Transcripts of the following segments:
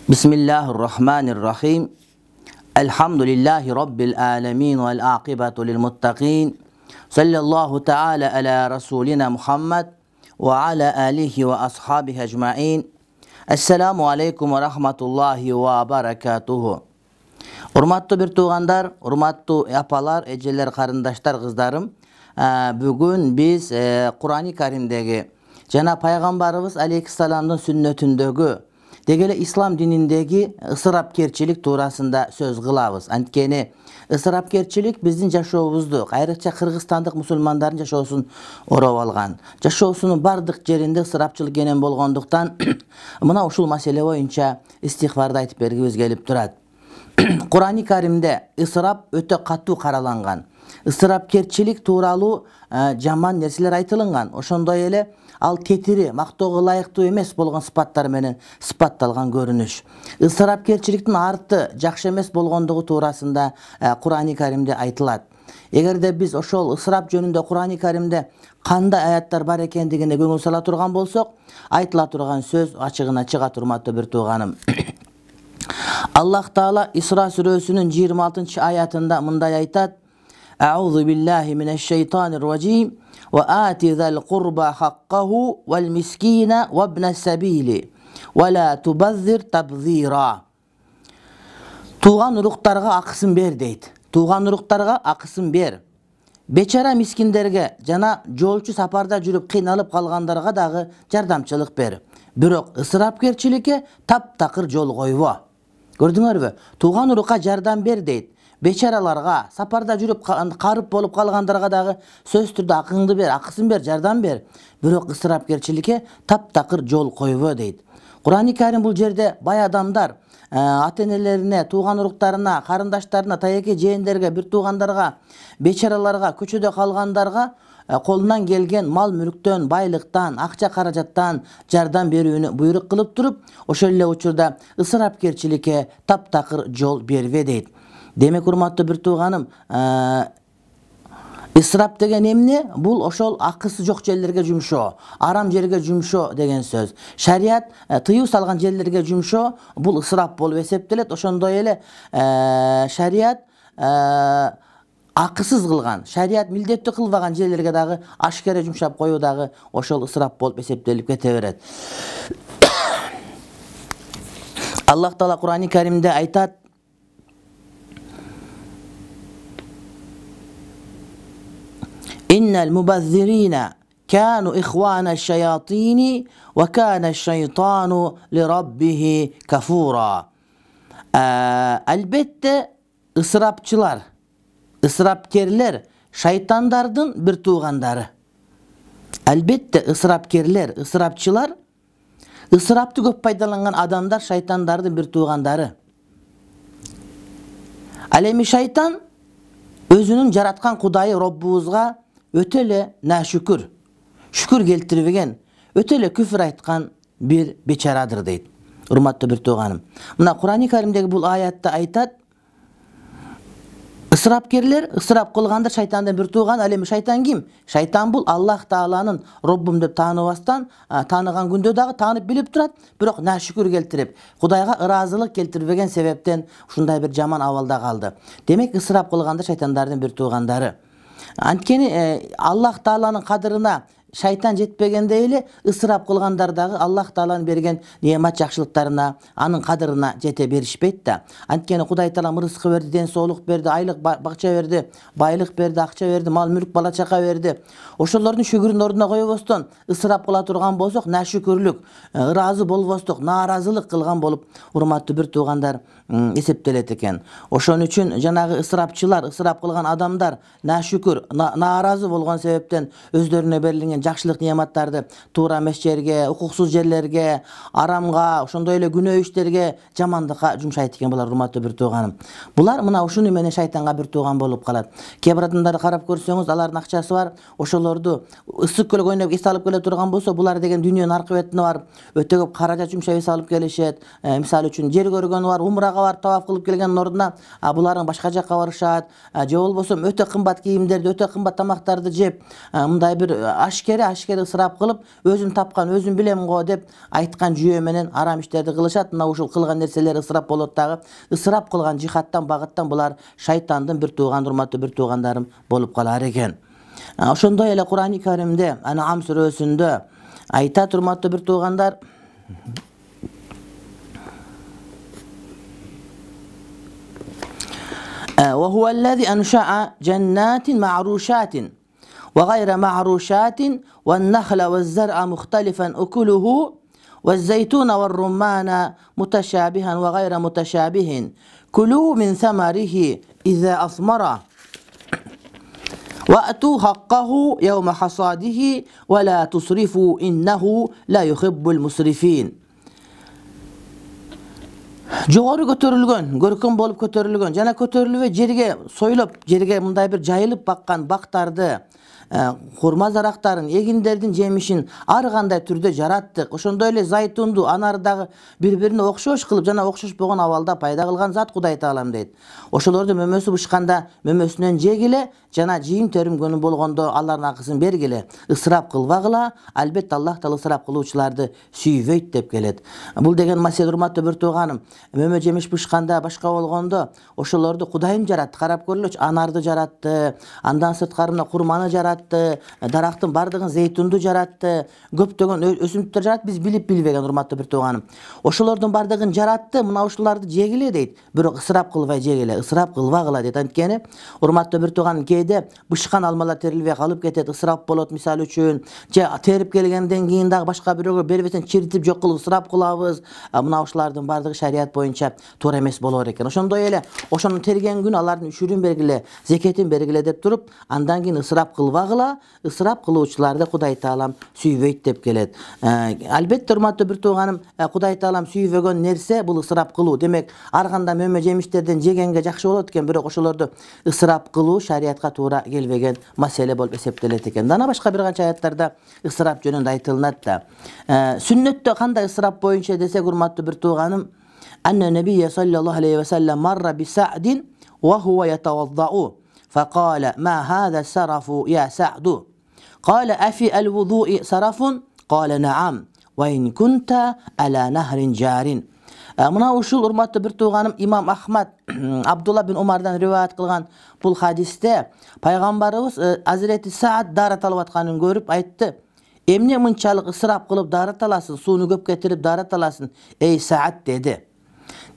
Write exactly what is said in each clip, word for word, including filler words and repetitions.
Bismillahirrahmanirrahim. Elhamdülillahi Rabbil alemin vel aqibatu lil muttaqin. Sallallahu ta'ala ala Rasulina Muhammed ve ala alihi ve ashabihi ecmain. Esselamu aleykum ve rahmatullahi ve barakatuhu. Urmatlı bir tuğandar, urmatlı apalar, eceler, karındaşlar, kızlarım. Bugün biz Kur'an-ı Kerim'deki Cenab-ı Peygamberimiz Aleyhisselam'ın sünnetindeki degele İslam dinindeki ısırapkerçilik tuğrasında söz kılabız. Antkeni ısırapkerçilik bizdin jaşoobuzdu, ayrıca Kırgızstandык musulmandardын jaşoosун ороп алган. Jaşoosunун бардык жеринде ысырапчылык кенен болгондуктан мына ушул маселе боюнча истихбарды айтып бергибиз келип турат. Kur'an-ı Kerim'de ısırap öte katu karalangан. Isırapkerçilik tuğralı жаман нерселер айтылынган. Ошондой эле ал тетири, мактоого ылайыктуу эмес болгон сыпаттар менен сыпатталган көрүнүш. Ысырапкерчиликтин арты жакшы эмес болгондугу туурасында Kur'an-ı Kerim'de айтылат. Эгерде биз ошол ысырап жөнүндө Kur'an-ı Kerim'de кандай аяттар бар экендигине көңүл сала турган болсок, айтыла турган сөз ачыгына чыга турматтуу бир тууганым. Allah Taala İsra surесинин жыйырма алтынчы аятында мындай айтат: A'udhu billahi mineşşeytanirracim ve ati zal qurba haqqahu vel miskina ve ibnes sabili ve la tubazzir tabzira. Tuğan uruqtarga akısın ber deyt. Tuğan uruqtarga akısın ber. Бечара мискиндерге жана жолчу сапарда жүрүп кыйналып калгандарга дагы жардамчылык бер. Бирок ысырапкерчиликке таптакыр жол койбо. Көрдүңөрбү? Туган урукка жардам бер дейт. Бечараларга, сапарда жүрүп карып болуп калгандарга дагы сөз түрдө акыңды бер, акысын бер, жардам бер. Бирок ысырапкерчиликке таптакыр жол койбо дейт. Kur'an-ı Kerim бул жерде бай адамдар ата-энелерине, тууган уруктарына, карындаштарына, таяке жээндерге, бир туугандарга, бечараларга, көчөдө калгандарга колунан келген мал мүлктөн, байлыктан, акча каражаттан жардам берүүнү буйрук кылып туруп, ошол эле учурда ысырапкерчиликке таптакыр жол бербе дейт. Демек, урматтуу бир тууганым, ысырап деген эмне? Бул ошол акысы жок жерлерге жумшоо, арам жерге жумшоо деген сөз. Шарият тыюу салган жерлерге жумшоо бул ысырап болуп эсептелет. Ошондой эле шарият акысыз кылган, шарият милдеттүү кылбаган жерлерге дагы ашкере жумшап коюу дагы ошол ысырап болуп эсептелип кете берет. Аллах Таала Kur'an-ı Kerim'de айтат: İnnel mubazzirine kanu ihvana şeyatini ve kana şeytanu li rabbihi kafura. Elbette ısırapçılar, ısırapkerler şeytandardın bir tuğandarı. Elbette ısırapkerler, ısırapçılar, ısıraptı köp paydalangan adamlar şeytandardın bir tuğandarı. Alemi şeytan özünün jaratkan Kudayı Rabbubuzga öte ele naşükür, şükür keltirбеген, öte ele küfür aytkan bir beçaradır deyt. Urmatlı bir tuğanım. Mına Kur'an-ı Kerim'deki bu ayatta aytat: ısırapkerler, ısırap kılgandır şeytandan bir tuğan. Alemi şeytan kim? Şeytan bul Allah Taala'nın Rabbim dep tanıbastan, tanıgan günde dagı tanıp bilip turat, bирок naşükür keltirip, Kudayga ırazılık keltirбеген sebepten ушундай bir жаман абалда kaldı. Demek ısırap kılgandır şeytanlardan bir tuğandары. Antkeni Allah Taala'nın kadırına şeytan жетпегенде эле ысырап кылгандар дагы Allah Taala'nын берген немат жакшылыктарына, анын кадырына жете беришпейт да. Анткени Кудай Таала рызкы берди, ден соолук берди, айлык бакча берди, байлык берди, акча берди, мал мүлк, бала чака берди. Ошолордун шүгүрүн ордуна койбостон ысырап кыла турган болсок, нашүкүрлүк, ыраазы болбостук, нааразылык кылган болуп, урматтуу бир туугандар, эсептелет экен. Ошон үчүн жанагы ысырапчылар, ысырап кылган адамдар нашүкүр, нааразы болгон себептен өздөрүнө берилген берилген жакшылык неаматтарды туура эмес жерге, укуксуз жерлерге, арамга, ошондой эле күнөө иштерге, жамандыкка жумшайт экен булар, урматтуу бир тууганым. Булар мына ушуну менен шайтанга бир тууган болуп калат. Кээ бир адамдарды карап көрсөңүз, алардын акчасы бар, ошолорду ысык көлгө ойноп эс алып келе турган болсо, булар деген дүйнөнүн аркы бетине барып, өтө көп каражат жумшап эс алып келишет. Мисалы үчүн жер көргөнү бар, умрага бар, таваф кылып келгендин ордуна буларың башка жакка барышат, же болбосо өтө кымбат кийимдерди, өтө кымбат тамактарды жеп, мындай бир ашкере ашкере ысырап кылып, өзүм тапкан, өзүм билем го деп айткан жүйө менен арам иштерди кылышат. Мына ушул кылган нерселер ысырап болот дагы. Ысырап кылган жихаттан, багыттан булар шайтандын бир тууган, урматтуу бир туугандарым болуп калар экен. Ошондой эле Кур'ан-ы Каримде, Ан'ам сүрөсүндө айтат, урматтуу бир туугандар, وهو الذي أنشأ جنات معروشات وغير معروشات والنخل والزرع مختلفا أكله والزيتون والرمان متشابها وغير متشابه كلوا من ثمره إذا أثمر وأتوا حقه يوم حصاده ولا تسرفوا إنه لا يحب المسرفين. Жогору көтөрүлгөн, көркөм болуп көтөрүлгөн жана көтөрүлбөй жерге сойлоп, жерге мындай бир жайылып баккан бактарды, хурма зарактарын, эгиндердин жемишин ар кандай түрдө жараттык. Ошондой эле зайтунду, анардагы бири-бирине окшош кылып жана окшошпогон абалда пайда кылган зат Кудай Таалам дейт. Ошолорду мөмөсү бышканда мөмөсүнөн жегиле, жана жийим терим күнү болгондо алардын акысын бергиле. Ысырап кылбагыла, албетте Аллах Таала ысырап кылуучуларды сүйбөйт деп келет. Бул деген маселе, урматтуу бир тууганым, мөмө жемиш бышканда, башка болгондо ошолорду Кудайым жаратты. Карап көрүлөчү, анарды жаратты, андан сырткарына курманы жаратты, дарактын бардыгын, зейтунду жаратты, көптөгөн өсүмдүктөр жаратты, биз билип билбеген, урматтуу бир тууганым. Ошолордун бардыгын жаратты, мына ушуларды жегиле дейт. Бирок ысырап кылбай жегиле, ысырап кылбагыла дейт. Анткени, урматтуу бир тууганым, кээде бышкан алмалар терилбей калып кетет, ысырап болот, мисалы үчүн, же терип келгенден кийин дагы башка бирөөгө бербесен чиритип жок кылып ысырап кылабыз. Мына ушулардын бардыгы шарият боюнча туура эмес болор экен. Ошондой эле ошону терген күнү алардын үшүрүн бергиле, зекетин бергиле деп туруп, андан кийин ысырап кылбагыла, ысырап кылуучуларды Кудай Таалам сүйбөйт деп келет. Албетте, урматтуу бир тууганым, Кудай Таалам сүйбөгөн нерсе бул ысырап кылуу. Демек, ар кандай мөмө жемиштерден жегенге жакшы болот экен, бирок ошолорду ысырап кылуу шариятка туура келбеген маселе болуп эсептелет экен. Дана башка бир канча аяттарда ысырап жөнүндө айтылынат да. Сүннөттө кандай ысырап боюнча десек, урматтуу бир тууганым, анна набийя саллаллаху алейхи ва саллям марра би Са'дин ва хува ятаваддау فقال ما هذا السرف يا سعد قال أفي الوضوء سرف قال نعم وإن كنت على نهر جار. Мына ушул, урматтуу бир тууганым, имам Ахмад Абдулла бин Умардан риваят кылган бул хадисте пайгамбарыбыз Азирети Саад дарат алып атканын көрүп айтты: "Эмне мынчалык ысырап кылып дарат аласың, сууну көп кетирип дарат аласың, эй Саад" деди.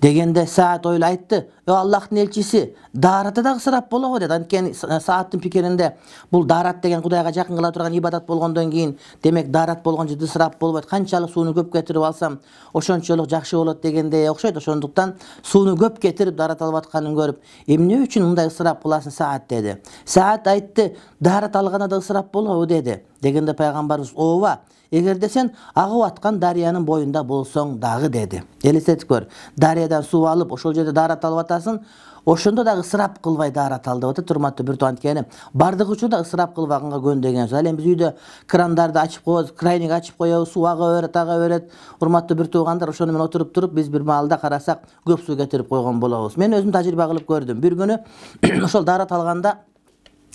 Дегенде Саад ойлоп айтты: "О Аллахтын элчиси, даратта да ысырап болобу?" деди. Анткени Саадтын пикиринде бул дарат деген Кудайга жакын кыла турган ибадат болгондон кийин, демек дарат болгон жерде ысырап болбойт. Канчалык сууну көп кетирип алсам, ошончолук жакшы болот дегендей окшойт. Ошондуктан сууну көп кетирип дарат алып атканын көрүп, "Эмне үчүн мындай ысырап кыласың, Саад?" деди. Саад айтты: "Дарат алганда да ысырап болобу?" деди. Дегенде пайгамбарыбыз: "Ооба, эгерде сен агып аткан дарыянын боюнда болсоң дагы" деди. Элестетип көр. Дарыядан суу алып, ошол жерде дарат алып атасың, ошондо дагы ысырап кылбай дарат ал деп атат, урматтуу бир тууган. Анткени бардык учурда ысырап кылбаганга көндөгөнбүз. Ал эми биз үйдө крандарды ачып коебуз, крайник ачып коебуз, суу ага берет, ага берет. Урматтуу бир туугандар, ошону менен отуруп туруп биз бир маалда карасак көп суу кетирип койгон болобуз. Мен өзүм тажрыйба кылып көрдүм. Бир күнү ошол дарат алганда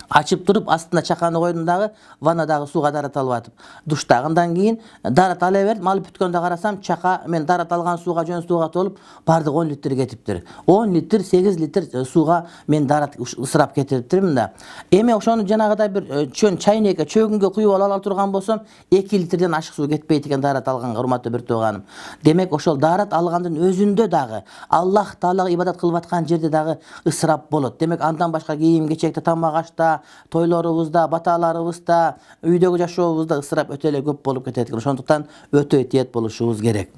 ачып туруп, астына чаканы койдум дагы, ваннадагы сууга дарат алып атып, душта. Андан кийин дарат ала бердим, алып бүткөндө карасам, чака мен дарат алган сууга, жөн сууга толуп, бардык он литр кетиптир. он литр, сегиз литр сууга мен дарат ысырап кетириптирмин да. Эми ошону жанагыдай бир чөн чайнекке, чөгүнгө куюп ала турган болсом, эки литрден ашык суу кетпейт экен дарат алганга, урматтуу бир тууганым. Демек, ошол дарат алгандын өзүндө дагы, Аллах Таалага ибадат кылып аткан жерде дагы ысырап болот. Демек, андан башка кийим-кечекте, тамак-ашта, тойлорубузда, баталарыбызда, үйдөгү жашообузда ысырап өтө эле көп болуп кетет экен. Ошондуктан өтө этият болушубуз керек.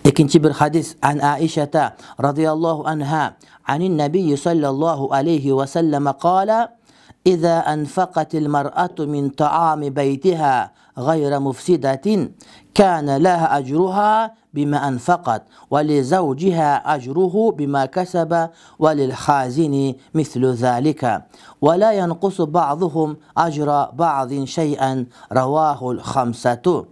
Экинчи бир хадис, ан Аишата радияллаху анха, анин набийи саллаллаху алейхи ва саллама кала: إذا أنفقت المرأة من طعام بيتها غير مفسدة كان لها أجرها بما أنفقت ولزوجها أجره بما كسب وللخازن مثل ذلك ولا ينقص بعضهم أجر بعض شيئا رواه الخمسة.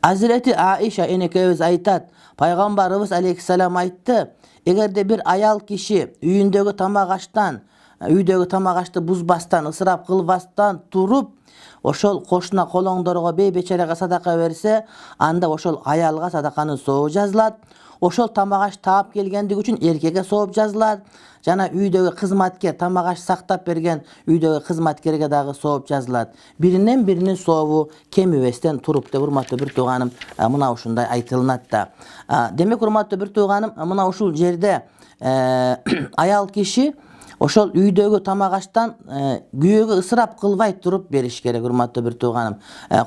Hazreti Aisha enekebиz айтат, Пайгамбарыбыз алейхиссалам айтты, эгерде бир аял киши үйүндөгү тамак аштан, үйдөгү тамак ашты бузбастан, ысырап кылбастан туруп, ошол кошуна колоңдорго бейбечарага садака берсе, анда ошол аялга садаканын сообу жазылат. Ошол тамак аш таап келгендиги үчүн эркекке сооп жазылат. Жана үйдөгү кызматкер тамак аш сактап берген үйдөгү кызматкерге дагы сооп жазылат. Биринен биринин сообу кемибестен туруп деп урматтуу бир тууганым мына ушундай айтылынат да. Демек урматтуу бир тууганым, мына ушул жерде аял киши ошол үйдөгү тамак аштан күйөөгө ысырап кылбай туруп бериш керек урматтуу бир тууганым.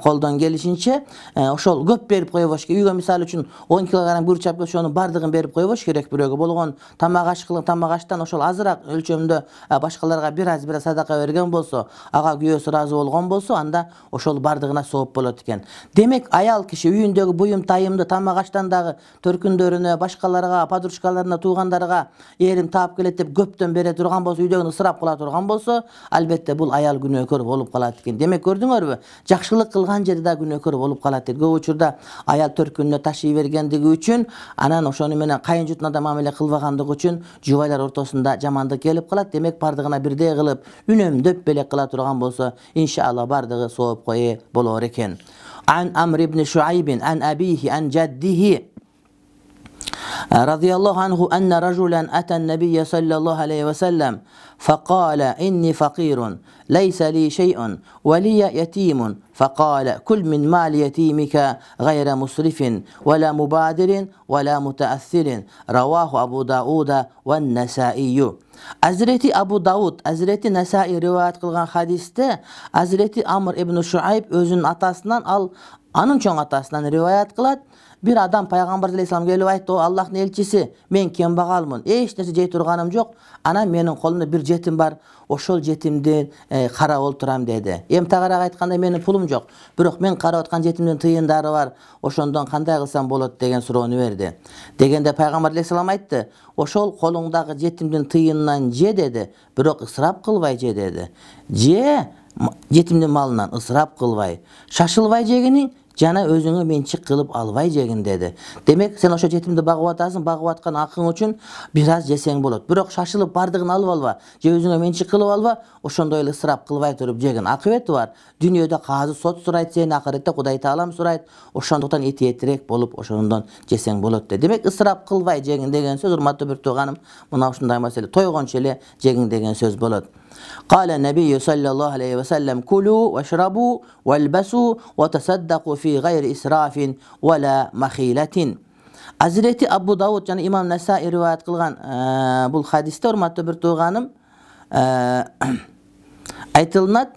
Колдон келишинче ошол көп берип койбош керек. Үйгө мисалы үчүн он килограмм гүрүч алып ошонун бардыгын берип койбош керек бирөөгө. Болгон тамак аш кылып тамак аштан ошол азыраак өлчөмдө башкаларга бир аз бир аз садака берген болсо, ага күйөөсү ыраазы болгон болсо, анда ошол бардыгына сооп болот экен. Демек аял киши үйүндөгү буюм тайымды тамак аштан дагы төркүндөрүнө, башкаларга, подружкаларына, туугандарга эрим таап келет деп көптөн бере турган болсо, үйдөгүн ысырап кыла турган болсо, албетте бул аял күнөөкөр болуп калат экен. Демек көрдүңөрбү? Жакшылык кылган жерде да күнөөкөр болуп калат дейт. Көп учурда аял төркүнүнө ташый бергендиги үчүн, анан ошону менен кайын жутуна да мамиле кылбагандыгы үчүн жубайлар ортосунда жамандык келип калат. Демек бардыгына бирдей кылып, үнөмдөп белек кыла турган болсо, иншалла бардыгы сооп кое болор экен. Ан Амр ибн Шуайбин ан абихи ан жаддихи رضي الله عنه أن رجلا أتى النبي صلى الله عليه وسلم فقال إني فقير ليس لي شيء ولي يتيم فقال كل من مال يتيمك غير مسرف ولا مبادر ولا متأثر رواه أبو داود والنسائي. Hazreti Abu Davud, Hazreti Nesai rivayet kılgan hadiste Hazreti Amr ibn Şuayb özünün atasından al, anın çoğun atasından rivayet kılat. Bir adam Peygamber Aleyhisselam gelip aytты, o Allah'ın elçisi, men kembagalmın, eç nerse jey turganym jok. Ana menin kolumda bir jetim var, oşol jetimden e, kara olturam dedi. Emtagarak aytkanda menin pulum jok. Bирок men kara otkan jetimden tıyındары var, oşondan kanday kılsam bolot degen suroonu verdi. Degende Peygamber Aleyhisselam aytты, oşol kolуңдагы jetimden tıyından je dedi, bирок ысырап kılbay je dedi. Je jetimden malынан ысырап kılbay, şaşılbay jegini жана өзүңө менчик кылып албай жегин dedi. Демек сен ошо жетимди багып атасың, багып аткан акың үчүн бир аз жесең болот. Бирок шашылып бардыгын алып алба, же өзүңө менчик кылып алба, ошондой эле ысырап кылбай туруп жегин. Акыбети бар. Дүйнөдө казы сот сурайт сени, акыретте Кудай Таалам сурайт. Ошондуктан этиетирээк болуп ошондон жесең болот dedi. Демек ысырап кылбай жегин деген сөз, урматтуу бир тууганым, мына ушундай маселе тойгончу эле жегин деген сөз болот. قال النبي صلى الله عليه وسلم كلوا واشربوا والبسوا وتصدقوا في غير إسراف ولا مخيلة. Hazreti Abu Davud jana İmam Nesai rivayet kılgan bul hadiste urmatlı bir tuğanım aytılınat,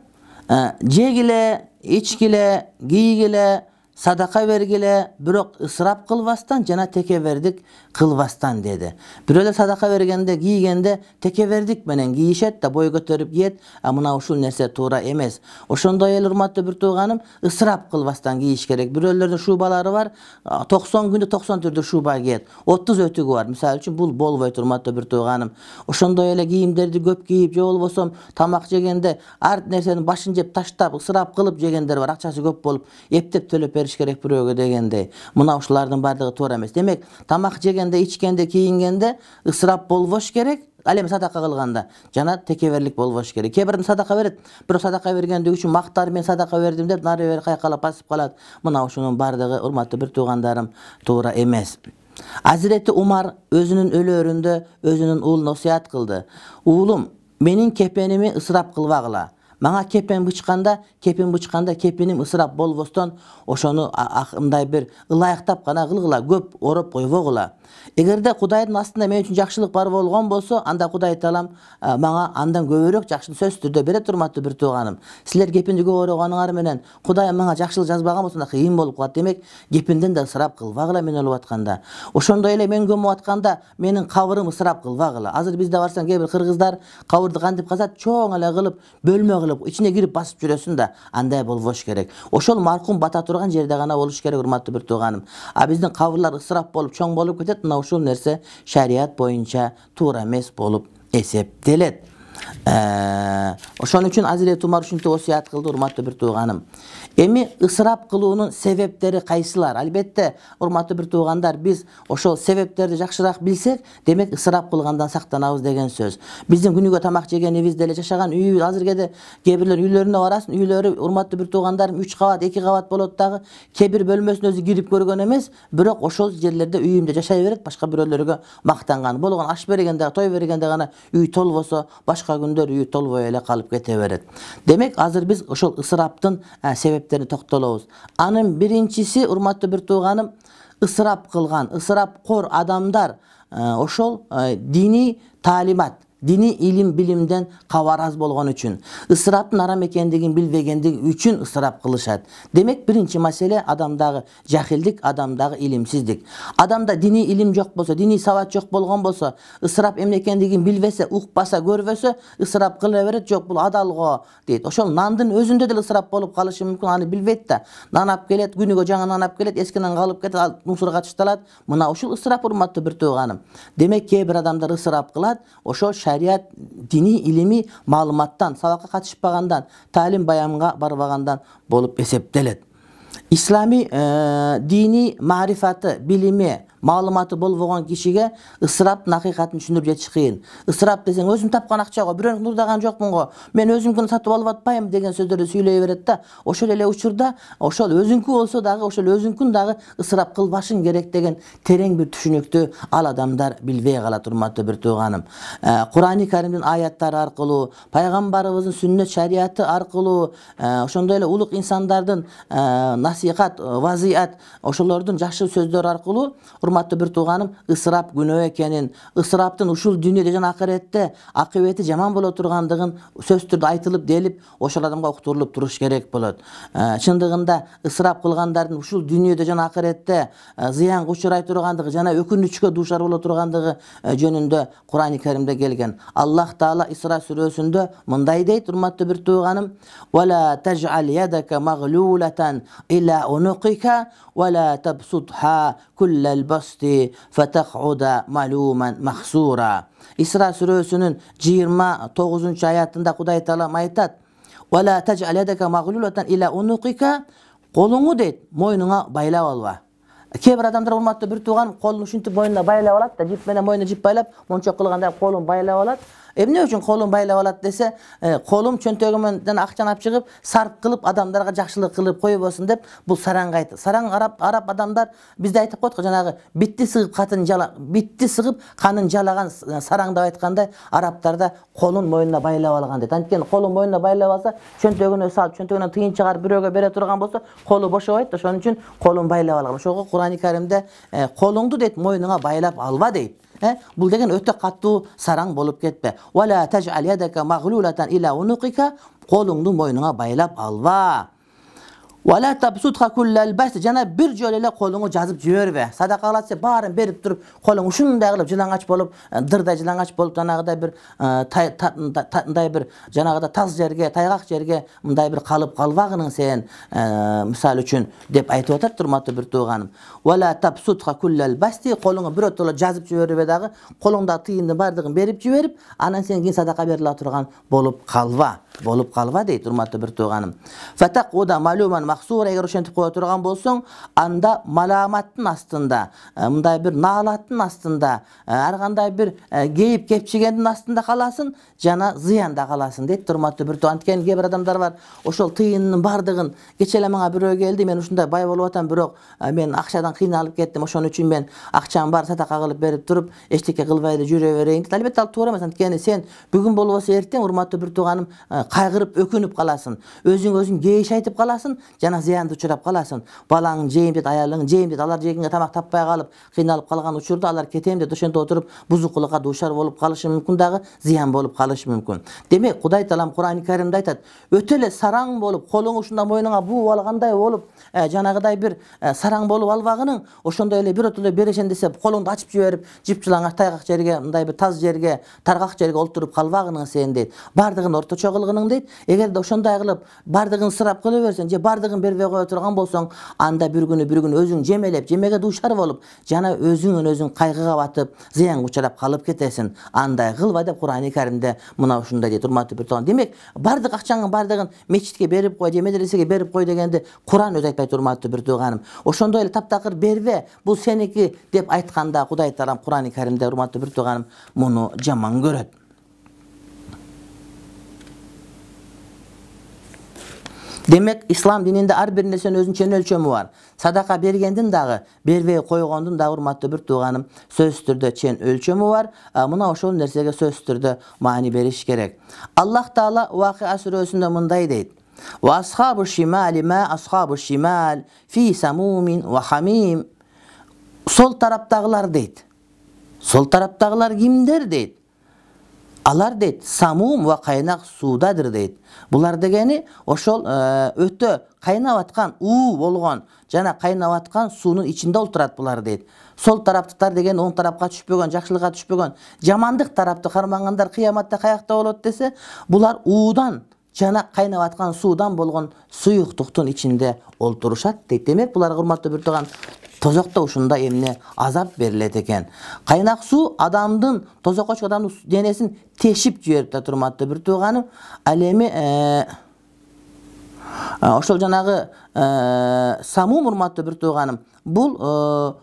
jegile, içkile, giygile, sadaka vergile, bирок ысырап кылбастан жана текебердик кылбастан dedi. Бирөөлөр садака бергенде, кийгенде текебердик менен кийишет да, бой көтөрүп кийет, а мына ушул нерсе туура эмес. Ошондой эле урматтуу бир тууганым, ысырап кылбастан кийиш керек. Бирөөлөрдүн шубалары бар, токсон күндө токсон түрдүү шуба кийет. отуз өтүгү бар. Мисалы үчүн бул болбойт урматтуу бир тууганым. Ошондой эле кийимдерди көп кийип, же болбосо тамак жегенде ар нерсенин башын жеп таштап, ысырап кылып жегендер бар. Акчасы көп болуп, эптеп төлөп бериш керек бирөөгө дегендей. Мына ушулардын бардыгы туура эмес. Демек, тамак жегенде, ичкенде, кийингенде ысырап болбош керек. Ал эми садака кылганда жана текеберлик болбош керек. Кээ бирин садака берет, бирок садака бергендиги үчүн мактар, мен садака бердим деп нары бери кайкалап басып калат. Мына ушунун бардыгы урматтуу бир туугандарым туура эмес. Hazreti Umar өзүнүн өлөөрүндө өзүнүн уулуна осуят кылды. Уулум, менин кепеними ысырап кылбагыла. Мага кепен бычканда, кепен бычканда кепеним ысырап болбостон, ошону мындай бир ылайыктап гана кылгыла, көп ороп койбогула. Эгерде Кудайдын астында мен үчүн жакшылык бар болгон болсо, анда Кудай Таалам мага андан көбүрөөк жакшылык сөзсүз түрдө берет, урматтуу бир тууганым. Силер кепенди көп ороганыңар менен Кудай мага жакшылык жазбаган болсо, кыйын болуп калат. Демек, кепенден да ысырап кылбагыла мен өлүп атканда. Ошондой эле мен көмүп атканда менин кабырым ысырап кылбагыла. Азыр бизде барсаң, кээ бир кыргыздар кабырды кантип казат, чоң эле кылып, бөлмө кылып ичине кирип басып жүрөсүң да, андай болбош керек. Ошол маркум бата турган жерде гана болуш керек, урматтуу бир тууганым. А биздин кабырлар ысырап болуп, чоң болуп кетет, мына ушул нерсе шарият боюнча туура эмес болуп эсептелет. Ошон үчүн Азирет Умар ушинтип осуят кылды, урматтуу бир тууганым. Эми ысырап кылуунун себептери кайсылар? Албетте, урматтуу бир туугандар, биз ошол себептерди жакшыраак билсек, демек ысырап кылгандан сактанабыз деген сөз. Биздин күнүгө тамак жегенибиз деле, жашаган үйүбүз, азыркеде кээ бирлер үйлөрүнө барасың, үйлөрү, урматтуу бир туугандарым, үч кабат, эки кабат болот дагы, кээ бир бөлмөсүнө өзү кирип көргөн эмес, бирок ошол жерлерде үйүмдө жашай берет, башка бирөөлөргө мактанган. Болгон аш бергенде, той бергенде гана үй толбосо, башка күндөр үй толбой эле калып кете берет. Демек, азыр биз ошол ысыраптын себептерине токтолобуз. Анын биринчиси, урматтуу бир тууганым, ысырап кылган, ысырапкор адамдар ошол диний таалимат, диний илим билимден кабар аз болгон үчүн, ысыраптын арам экендигин билбегендиги үчүн ысырап кылышат. Демек, биринчи маселе адамдагы жахилдик, адамдагы илимсиздик. Адамда диний илим жок болсо, диний сабат жок болгон болсо, ысырап эмне экендигин билбесе, укпаса, көрбөсө, ысырап кыла берет. Жок, бул адал го дейт. Ошол нандын өзүндө деле ысырап болуп калышы мүмкүн, аны билбейт да. Нан алып келет, күнүгө жаңы нан алып келет, эски нан калып кетет, мусорго ташталат. Мына ушул ысырап, урматтуу бир тууганым. Демек, кээ бир адамдар ысырап кылат, ошол шарият, диний илими маалыматтан, сабакка катышпагандан, таалим баянга барбагандан болуп эсептелет. Ислами диний маарифаты, билими, маалыматы болбогон кишиге ысыраптын акыйкатын түшүндүрүп жетиш кыйын.Ысырап десең, өзүм тапкан акча го, бирөөнү нурдаган жокмун го, мен өзүмкүн сатып алып атпайм деген сөздөрдү сүйлөй берет да. Ошол эле учурда ошол өзүңкү болсо дагы, ошол өзүңкүн дагы ысырап кылбашың керек деген терең бир түшүнүктү ал адамдар билбей калат, урматтуу бир тууганым. Кур'ани Каримдин аяттары аркылуу, пайгамбарыбыздын сүннөт шариаты аркылуу, ошондой эле улук инсандардын насихат, вазият, ошолордун жакшы сөздөрү аркылуу, урматтуу бир тууганым, ысырап күнөө экенин, ысыраптын ушул дүйнөдө жана акыретте акыбети жаман боло тургандыгын сөз түрдө айтылып делип, ошол адамга уктурулуп туруш керек болот. Чындыгында ысырап кылгандардын ушул дүйнөдө жана акыретте зыянга учурай тургандыгы жана өкүнүчкө дуушар боло тургандыгы жөнүндө Кур'ани Каримде келген. Аллах Таала Исра сүрөсүндө мындай дейт, урматтуу бир тууганым: "Вала таж'ал ядака маглулатан иля унуқика вала табсутха куллал басти фатахуда малуман махсура." Исра сүрөсүнүн жыйырма тогузунчу аятында Кудай Таала айтат: "Вала таж'ал ядака маглулатан иля унуқика", колуңу дейт, мойнуңа байлап алба. Кээ бир адамдар, урматтуу бир тууган, колун ушинтип мойнуна байлап алат да, жип менен мойнуна жип байлап, мончок кылганда колун байлап алат. Эмне үчүн колун байлап алат десе, колум чөнтөгүмөн акчаны алып чыгып, сарп кылып, адамдарга жакшылык кылып койбосун деп, бул сараң айтат. Сараң араб араб адамдар бизде айтып койдук, жанагы битти сыгып катын жала, битти сыгып канын жалаган сараң деп айткандай, арабтарда колун мойнуна байлап алган дейт. Анткени колун мойнуна байлап алса, чөнтөгүнө салып, чөнтөгүнөн тыйын чыгарып бирөөгө бере турган болсо, колу бошобойт да, ошон үчүн колун байлап алган. Ошого Кур'ани Каримде колуңду дейт, мойнуңа байлап алба дейт. Бул деген өтө каттуу сараң болуп кетпе. Вала таж'ал ядака маглулатан иля унуқика, колуңду мойнуңа байлап алба. Вала табсутха куллал басти, жана бир жолу эле колуңу жазып жибербе. Садака кылат, баарын берип туруп, колуң ушундай кылып жылаңач болуп, дырдай жылаңач болуп, жанагыдай бир мындай бир жанагыдай таз жерге, тайгак жерге мындай бир калып калбагының сен, мисалы үчүн деп айтып атат, урматтуу бир тууганым. Вала табсутха куллал басти, колуңу бирөтөлө жазып жибербе дагы, колуңдагы тыйындын бардыгын берип жиберип, анан сен кийин садака бериле турган болуп калба, болуп калба дейт, урматтуу бир тууганым. Фатакуда малуман махсура, эгер ошентип кое турган болсоң, анда маламаттын астында, мындай бир наалаттын астында, ар кандай бир кейип кепчигендин астында каласың, жана зыянда каласың дейт, урматтуу бир тууган. Анткени кээ бир адамдар бар, ошол тыйынынын бардыгын, кече эле мага бирөө келди, мен ушундай бай болуп атам, бирок мен акчадан кыйналып кеттим, ошон үчүн мен акчам бар, садака кылып берип туруп, эчтеке кылбай эле жүрө берейин дейт. Албетте ал туура эмес, анткени сен бүгүн болбосо эртең, урматтуу бир тууганым, кайгырып, өкүнүп каласың, өзүң өзүң кейиш айтып каласың, жана зыянды учурап каласың. Балаң жейм дейт, аялың жейм дейт, алар жегенге тамак таппай калып кыйналып калган учурда алар кетем деп ошентип отуруп бузукулукка дуушар болуп калышы мүмкүн, дагы зыян болуп калышы мүмкүн. Демек Кудай Таалам Кур'ан-ы Каримде айтат, өтө эле сараң болуп, колуң ушунда мойнуңа бууп алгандай болуп, жанагыдай бир сараң болуп албагының, ошондой эле биротоло берешен десе колуңду ачып жиберип, жипчылаңа тайгак жерге, мындай бир таз жерге, таргак жерге олтуруп калбагының сен дейт. Бардыгын орточо кылгының дейт. Эгерде ошондой кылып, бардыгын ысырап кыла берсең, же бардыгын бербей кое турган болсоң, анда бир күнү бир күнү өзүң жемелеп, жемеге дуушар болуп, жана өзүңөн өзүң кайгыга батып, зыянга учурап калып кетесиң. Андай кылба деп Кур'ан-ы Каримде мына ушундай дейт, урматтуу бир тууган. Демек, бардык акчаңдын бардыгын мечитке берип кой, же медресеге берип кой дегенди Кур'ан өзү айтпайт, урматтуу бир тууганым. Ошондой эле таптакыр бербе, бул сеники деп айтканда Кудай Таалам Кур'ан-ы Каримде, урматтуу бир тууганым, муну жаман көрөт. Демек, ислам дининде ар бир нерсенин өзүнүн чен өлчөмү бар. Садака бергендин дагы, бербей койгондун дагы, урматтуу бир тууганым, сөзсүз түрдө чен өлчөмү бар. Мына ошол нерсеге сөзсүз түрдө маани бериш керек. Аллах Таала Вакыа сүрөсүндө мындай дейт: "Ва асхабу шимали ма асхабу шимал фи самумин ва хамим." Сол тараптагылар дейт. Сол тараптагылар кимдер дейт? Алар дейт, самум ва кайнак суудадыр дейт. Булар дегени ошол өтө кайнап аткан, уу болгон жана кайнап аткан суунун ичинде олтурат булар дейт. Сол тараптыктар деген оң тарапка түшпөгөн, жакшылыкка түшпөгөн, жамандык тарапты кармагандар кыяматта каякта болот десе, булар уудан жана кайнап аткан суудан болгон суюктуктун ичинде олтурушат дейт. Демек, буларга, урматтуу бир тууган, тозокто ушундай эмне азап берилет экен. Кайнак суу адамдын, тозокко чыккан адамдын денесин тешип жиберип да, урматтуу бир тууганым. Ал эми ошол жанагы самум, урматтуу бир тууганым, бул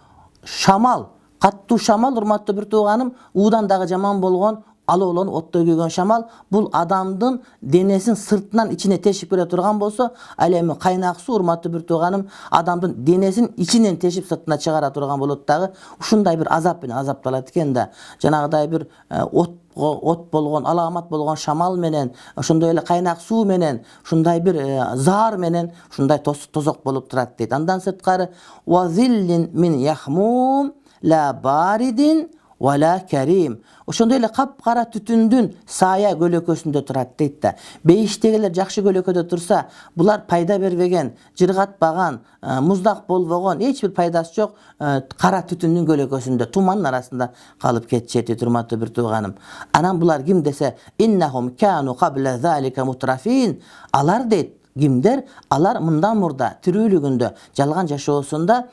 шамал, каттуу шамал, урматтуу бир тууганым, уудан дагы жаман болгон, алоолонуп оттой күйгөн шамал, бул адамдын денесин сыртынан ичине тешип кире турган болсо, ал эми кайнак суу, урматтуу бир тууганым, адамдын денесин ичинен тешип сыртына чыгара турган болот дагы, ушундай бир азап менен азапталат экен да. Жанагыдай бир от от болгон, аламат болгон шамал менен, ошондой эле кайнак суу менен, ушундай бир заар менен ушундай тозок болуп турат дейт. Андан сырткары ва зиллин мин яхмум ла баридин вала карим. Ошондой эле капкара түтүндүн сая көлөкөсүндө турат дейт да. Бейиштегилер жакшы көлөкөдө турса, булар пайда бербеген, жыргатпаган, муздак болбогон, эч бир пайдасы жок кара түтүндүн көлөкөсүндө, тумандын арасында калып кетишет дейт, урматтуу бир тууганым. Анан булар ким десе, иннахум кану кабла залика мутрафин. Алар дейт, кимдер? Алар мындан мурда тирүүлүгүндө, жалган жашоосунда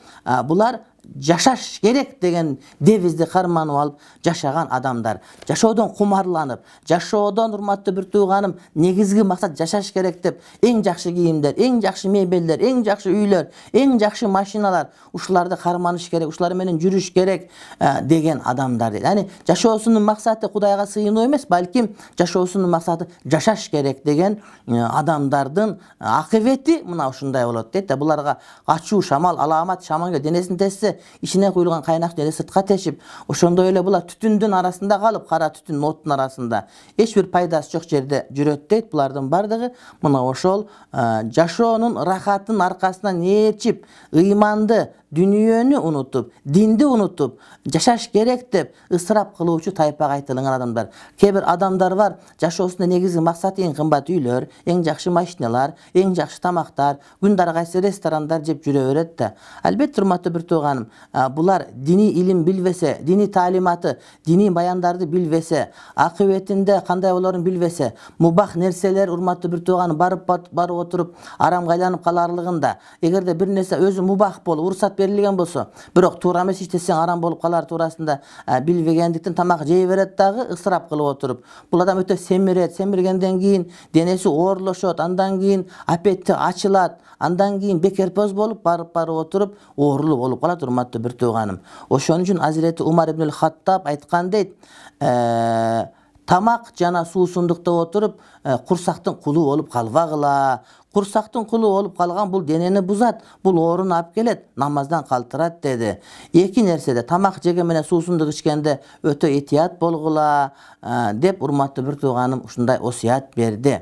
булар жашаш керек деген девизди карманып алып жашаган адамдар. Жашоодон кумарланып, жашоодон, урматтуу бир тууганым, негизги максат жашаш керек деп, эң жакшы кийимдер, эң жакшы мебелдер, эң жакшы үйлөр, эң жакшы машиналар, ушуларды карманыш керек, ушулар менен жүрүш керек деген адамдар дейт. Яни жашоосунун максаты Кудайга сыйынуу эмес, балким жашоосунун максаты жашаш керек деген адамдардын акыбети мына ушундай болот дейт да. Буларга ачуу шамал, аламат шамал денесин тессе, ичине куюлган кайнак дене сыртка тешип, ошондой эле булар түтүндүн арасында калып, кара түтүн, оттун арасында эч бир пайдасы жок жерде жүрөт дейт. Булардын бардыгы мына ошол жашоонун рахатын аркасынан ээрчип, ыйманды, дүнүйөнү унутуп, динди унутуп, жашаш керек деп ысырап кылуучу тайпага айтылган адамдар. Кээ бир адамдар бар, жашоосунда негизги максаты эң кымбат үйлөр, эң жакшы машиналар, эң жакшы тамактар, күндө кайсы ресторандар жеп жүрө берет да. Албетте, урматтуу бир тууганым, булар дини илим билбесе, дини таалиматы, дини баяндарды билбесе, акыбетинде кандай болорун билбесе, мубах нерселер, урматтуу бир тууганым, барып барып отуруп арамга айланып каларлыгында, эгерде бир нерсе өзү мубах болуп, уруксат берилген болсо, бирок туура эмес иштесең арам болуп калар туурасында билбегендиктен тамак жей берет дагы, ысырап кылып отуруп. Бул адам өтө семирет, семиргенден кийин денеси оорлошот, андан кийин аппетити ачылат, андан кийин бекерпоз болуп барып барып отуруп оорулуу болуп калат, урматтуу бир тууганым. Ошон үчүн Азирети Умар ибн Хаттаб айткан дейт, тамак жана суусундукта отуруп курсактын кулу болуп калбагыла. Курсактын кулу болуп калган бул денени бузат, бул ооруну алып келет, намаздан калтырат деди. Эки нерседе, тамак жеген менен суусундук ичкенде өтө этият болгула деп, урматтуу бир тууганым, ушундай осуят берди.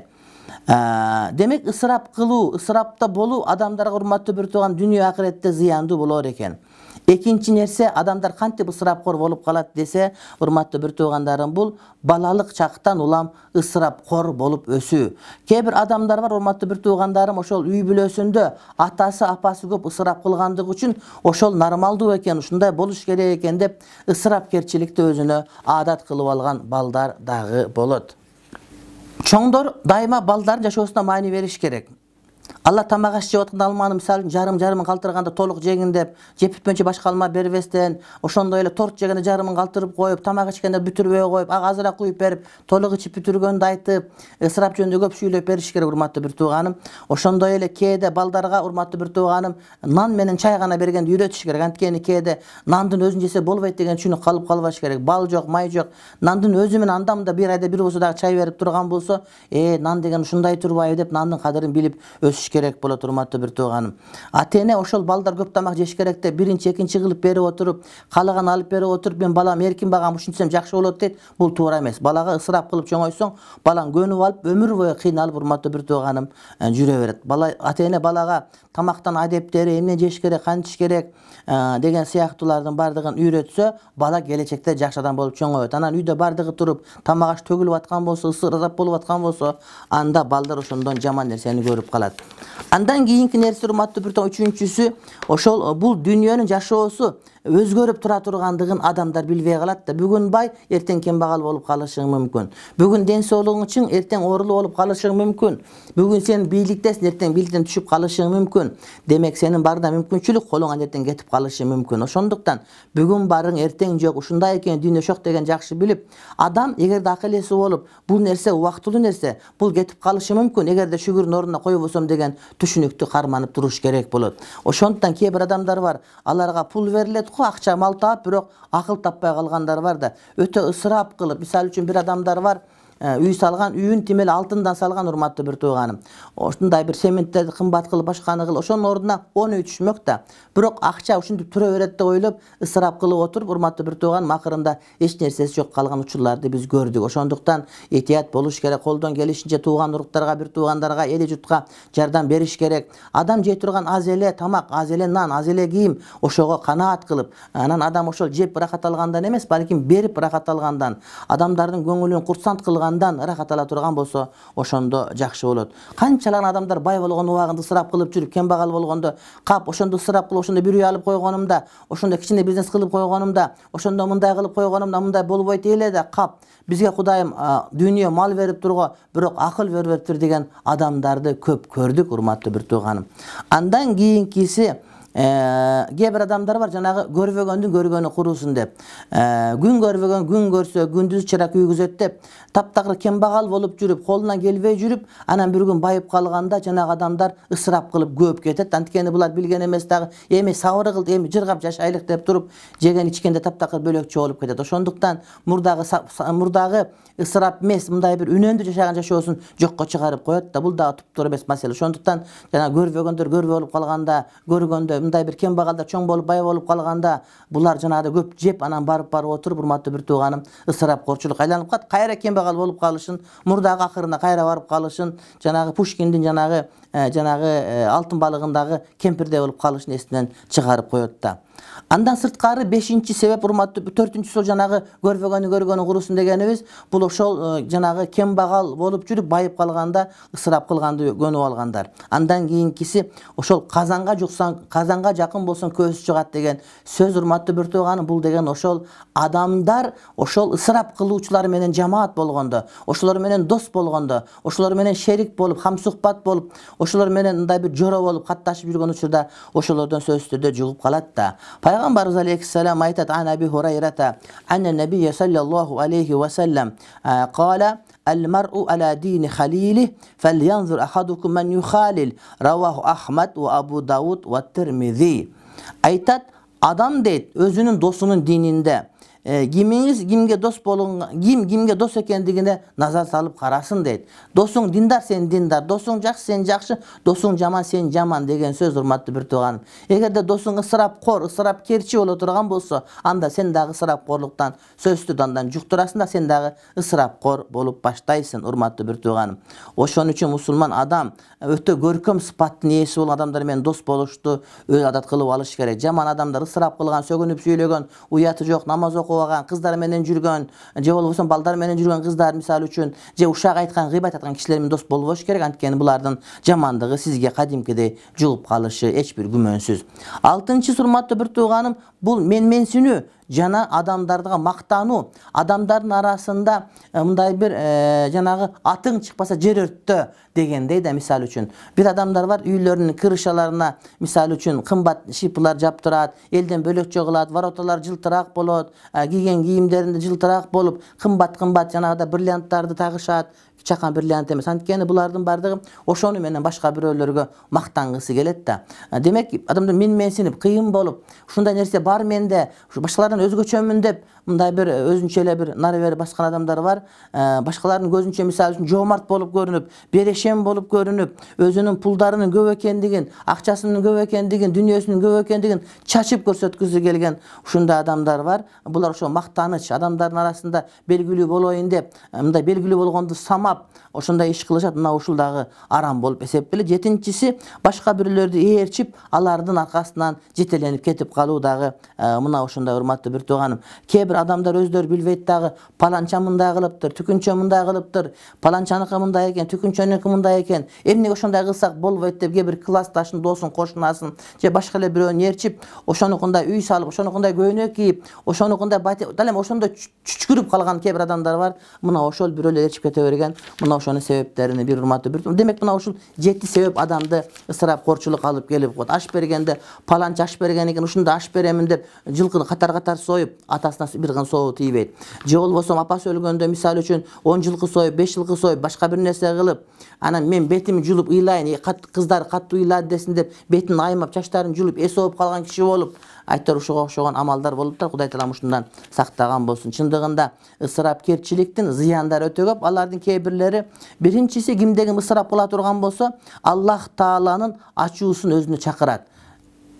Демек ысырап кылуу, ысырапта болуу адамдарга урматтуу бир тууган дүйнө акыретте зыяндуу болор экен. Экинчи нерсе, адамдар кантип ысырапкор болуп калат десе, урматтуу бир туугандарым, бул балалык чактан улам ысырапкор болуп өсүү. Кээ бир адамдар бар, урматтуу бир туугандарым, ошол үй бүлөсүндө атасы, апасы көп ысырап кылгандыгы үчүн ошол нормалдуу экен, ушундай болуш керек экен деп ысырапкерчиликти өзүнө адат кылып алган балдар дагы болот. Чоңдор дайыма балдардын жашоосуна маани бериш керек. Алла тамак аш жеп атканда алманы мисалы жарым жарымын калтырганда толук жегин деп, жеп бүтмөйчө башка алма бербестен, ошондой эле торт жегенде жарымын калтырып коюп, тамак ичкенде бүтүрбөй коюп, ага азыраак куюп берип, толук ичип бүтүргөндү айтып, ысырап жөнүндө көп сүйлөп бериш керек, урматтуу бир тууганым. Ошондой эле кээде балдарга, урматтуу бир тууганым, нан менен чай гана бергенди үйрөтүш керек. Анткени кээде нандын өзүн жесе болбойт деген түшүнүк калып калбаш керек. Бал жок, май жок. Нандын өзү менен анда мында бир айда бир болсо дагы чай берип турган болсо, э нан деген ушундай турбайбы деп нандын кадырын билип өсүш керек болот, урматтуу бир тууганым. Ата-эне ошол балдар көп тамак жеш керек деп биринчи, экинчи кылып берип отуруп, каалаган алып берип отуруп, мен балам эркин багам, ушинтсем жакшы болот дейт. Бул туура эмес. Балага ысырап кылып чоңойсоң, балаң көнүп алып, өмүр бою кыйналып, урматтуу бир тууганым, жүрө берет. Бала, ата-эне балага тамактан адептери, эмне жеш керек, кантиш керек деген сыяктуулардын бардыгын үйрөтсө, бала келечекте жакшы адам болуп чоңойот. Анан үйдө бардыгы туруп, тамак аш төгүлүп аткан болсо, ысырап болуп аткан болсо, анда балдар ошондон жаман нерсени көрүп калат. Андан кийинки нерсе, урматтуу бир тууган, үчүнчүсү, ошол бул дүйнөнүн жашоосу өзгөрүп тура тургандыгын адамдар билбей калат да. Бүгүн бай, эртең кембагал болуп калышың мүмкүн. Бүгүн ден соолугуң чың, эртең оорулуу болуп калышың мүмкүн. Бүгүн сен бийликтесиң, эртең бийликтен түшүп калышың мүмкүн. Демек сенин барда мүмкүнчүлүк колуңан эртең кетип калышы мүмкүн. Ошондуктан бүгүн барың, эртең жок, ушундай экен, дүйнө шок деген жакшы билип, адам эгерде акыл эси болуп, бул нерсе убактылуу нерсе, бул кетип калышы мүмкүн, эгерде шүгүрдүн ордуна койбосом деген түшүнүктү карманып туруш керек болот. Ошондуктан кээ бир адамдар бар, аларга пул берилет го, акча мал таап, бирок акыл таппай калгандар бар да. Өтө ысырап кылып, мисалы үчүн бир адамдар бар, үй салган, үйүн тимел алтындан салган, урматтуу бир тууганым. Ошондой бир сементтерди кымбат кылып, башканы кылып, ошонун ордуна он үй түшмөк да. Бирок акча ушинтип тура берет деп ойлоп, ысырап кылып отуруп, урматтуу бир тууганым, акырында эч нерсеси жок калган учурларды биз көрдүк. Ошондуктан этият болуш керек, колдон келишинче тууган уруктарга, бир туугандарга, эли журтка жардам бериш керек. Адам жей турган аз эле тамак, аз эле нан, аз эле кийим, ошого канаат кылып, анан адам ошол жеп ырахат алгандан эмес, балким берип ырахат алгандан, адамдардын көңүлүн курсант кылган ырахат ала турган болсо, ошондо жакшы болот. Канчалаган адамдар бай болгон убагында ысырап кылып жүрүп, кембагал болгондо кап, ошондо ысырап кылып, ошондо бир үй алып койгонумда, ошондо кичине бизнес кылып койгонумда, ошондо мындай кылып койгонумда, мындай болбойт эле да, кап, бизге Кудайым дүйнө мал берип турго, бирок акыл бербептир деген адамдарды көп көрдүк, урматтуу бир тууганым. Андан кийинкиси, кээ бир адамдар бар, жанагы көрбөгөндүн көргөнү курусун деп. Күн көрбөгөн күн көрсө, күндүз чыра күйгүзөт деп, таптакыр кембагал болуп жүрүп, колунан келбей жүрүп, анан бир күн байып калганда жанагы адамдар ысырап кылып көп кетет. Анткени булар билген эмес дагы, эми сабыр кыл, эми жыргап жашайлык деп туруп, жеген ичкенде таптакыр бөлөкчө болуп кетет. Ошондуктан мурдагы мурдагы ысырап эмес, мындай бир үнөндүү жашаган жашоосун жокко чыгарып коет да. Бул дагы туптуура эмес маселе. Ошондуктан жана көрбөгөндөр көрбөй болуп калганда, көргөндө мындай бир кембагалдар чоң болуп, бай болуп калганда, булар жанагы көп жеп, анан барып барып отуруп, урматтуу бир тууганым, ысырапкорчулук айланып калат. Кайра кембагал болуп калышын, мурдагы акырына кайра барып калышын, жанагы Пушкиндин жанагы жанагы алтын балыгындагы кемпирдей болуп калышын эсинен чыгарып коет да. Андан сырткары бешинчи себеп, урматтуу, төртүнчүсү ол жанагы көрбөгөнү көргөнү курусун дегенибиз, бул ошол жанагы кембагал болуп жүрүп, байып калганда ысырап кылганды көнүп алгандар. Андан кийинкиси, ошол казанга жуксаң, казанга жакын болсоң көзү чыгат деген сөз, урматтуу бир тууганым, бул деген ошол адамдар ошол ысырап кылуучулар менен жамаат болгондо, ошолор менен дос болгондо, ошолор менен шерик болуп, хамсухбат болуп, ошолор менен мындай бир жоро болуп катташып жүргөн учурда ошолордон сөзсүз түрдө жугуп калат да. Пайгамбарыбыз алейхиссалам айтат: "Ан Аби Хурайрата анна набийя саллаллаху алейхи ва саллам кала: "Ал-мар'у ала дини халили, фальянзур ахадукум ман юхалил". Раваху Ахмад ва Абу Дауд ва Тирмизи. Айтат, адам дейт өзүнүн досунун дининде. кимиңиз кимге дос болуңга, ким кимге дос экендигине назар салып карасын дейт. Досуң диндар, сен диндар, досуң жакшы, сен жакшы, досуң жаман, сен жаман деген сөз, урматтуу бир тууганым. Эгерде досуң ысырапкор, ысырапкерчи боло турган болсо, анда сен дагы ысырапкорлуктан сөздү дандан жуктурасың да, сен дагы ысырапкор болуп баштайсың, урматтуу бир тууганым. Ошон үчүн мусулман адам өтө көркөм сыпаттын ээси болгон адамдар менен дос болушту өз адат кылып алыш керек. Жаман адамдар ысырап кылган, сөгүнүп сүйлөгөн, уяты жок, намаз окубаган, кыздар менен жүргөн, же болбосо балдар менен жүргөн кыздар мисалы үчүн, же ушак айткан, гыйбат айткан кишилер менен дос болбош керек. Анткени булардын жамандыгы сизге кадимкидей жугуп калышы эч бир күмөнсүз. Алтынчысы, урматтуу бир тууганым, бул менменсинүү жана адамдарга мактануу. Адамдардын арасында мындай бир жанагы атың чыкпаса жер өрттө дегендей да, мисалы үчүн. Бир адамдар бар, үйлөрүнүн крышаларына мисалы үчүн кымбат шипылар жаптырат, элден бөлөкчө кылат, вороталар жылтыраак болот, кийген кийимдеринде жылтыраак болуп, кымбат-кымбат жанагыда бриллианттарды тагышат. Чакан бриллиант эмес. Анткени булардын бардыгы ошону менен башка бирөөлөргө мактангысы келет да. Демек, адамдар менменсинип, кыйын болуп, ушундай нерсе бар менде, башкалардан өзгөчөмүн деп, мындай бир өзүнчө эле бир нары бери баскан адамдар бар. Башкалардын көзүнчө мисалы үчүн жоомарт болуп көрүнүп, берешем болуп көрүнүп, өзүнүн пулдарынын көп экендигин, акчасынын көп экендигин, дүнүйөсүнүн көп экендигин чачып көрсөткүсү келген ушундай адамдар бар. Булар ошо мактаныч, адамдардын арасында белгилүү болоюн деп, мындай белгилүү болгонду самап ошондой иш кылышат. Мына ушул дагы арам болуп эсептелет. Жетинчиси, башка бирлерди ээрчип, алардын аркасынан жетеленип кетип калуу дагы мына ошондой, урматтуу бир тууганым. Кээ бир адамдар өздөрү билбейт дагы, паланча мындай кылыптыр, түкүнчө мындай кылыптыр, паланчаныкы мындай экен, түкүнчөнүкү мындай экен, эмнеге ошондой кылсак болбойт деп, кээ бир классташын, досун, кошунасын же башка эле бирөөнү ээрчип, ошонукундай үй салып, ошонукундай көйнөк кийип, ошонукундай дал эми ошондой чүчкүрүп калган кээ бир адамдар бар. Мына ошол бирөөлөр ээрчип кете берген. Мына ошонун себептерини бир урматтуу бир. Демек, мына ушул жети себеп адамды ысырапкорчулукка алып келип коет. Аш бергенде паланча аш берген экен, ушундай аш беремин деп жылкыны катар-катар союп, атасына бир кын соогу тийбейт. Же болбосо апасы өлгөндө мисалы үчүн он жылкы союп, беш жылкы союп, башка бир нерсе кылып, анан мен бетимди жулуп ыйлайын, кыздар катуу ыйлады десин деп бетин аймап, чачтарын жулуп, эс оп калган киши болуп, айтор ушуга окшогон амалдар болуп да, Кудай таалам ушундан сактаган болсун. Чындыгында ысырапкерчиликтин зыяндары өтө көп. Алардын кээ бирлери, биринчиси, кимде ким ысырап кыла турган болсо, Аллах Тааланын ачуусун өзүнө чакырат.